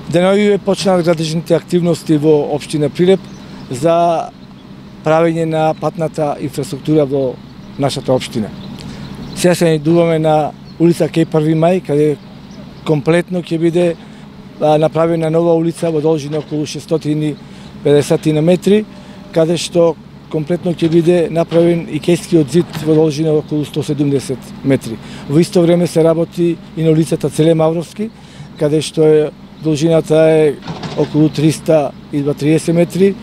Деновиве почнаа градежните активности во општина Прилеп за правење на патната инфраструктура во нашата општина. Сега се најдуваме на улица Кеј Први мај, каде комплетно ќе биде направена нова улица во должина околу 650 метри, каде што комплетно ќе биде направен и кејскиот зид во должина околу 170 метри. Во исто време се работи и на улицата Целе Мавровски, каде што должината е околу 330 метри,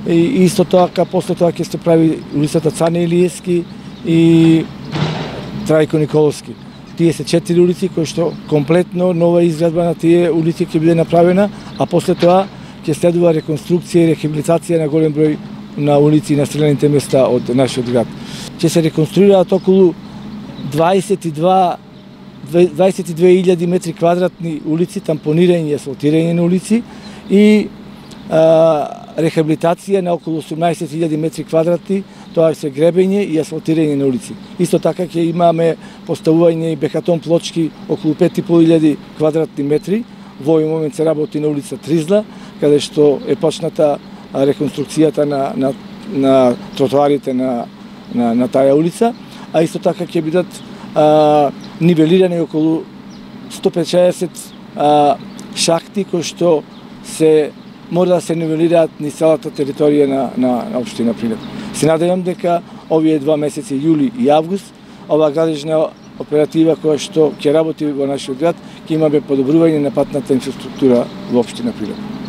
и исто така после тоа ќе се прави улицата Цане Илиевски и Трајко Николовски. Тие се 4 улици кои што комплетно нова изградба на тие улици ќе биде направена, а после тоа ќе следува реконструкција и рехабилитација на голем број на улици и населените места од нашиот град. Ќе се реконструираат околу 22.000 метри квадратни улици, тампонирање и асфалтирање на улици и рехабилитација на околу 18.000 метри квадратни, тоа се гребење и асфалтирање на улици. Исто така ќе имаме поставување и бехатон плочки околу 5.500 квадратни метри. Во овој момент се работи на улица Тризла, каде што е почната реконструкцијата на тротоарите на таа улица, а исто така ќе бидат нивелирани околу 150 шахти кои што се мора да се нивелираат низ целата територија на општина Прилеп. Се надевам дека овие 2 месеци, јули и август, ова градежна оператива која што ќе работи во нашиот град, ќе имаме подобрување на патната инфраструктура во општина Прилеп.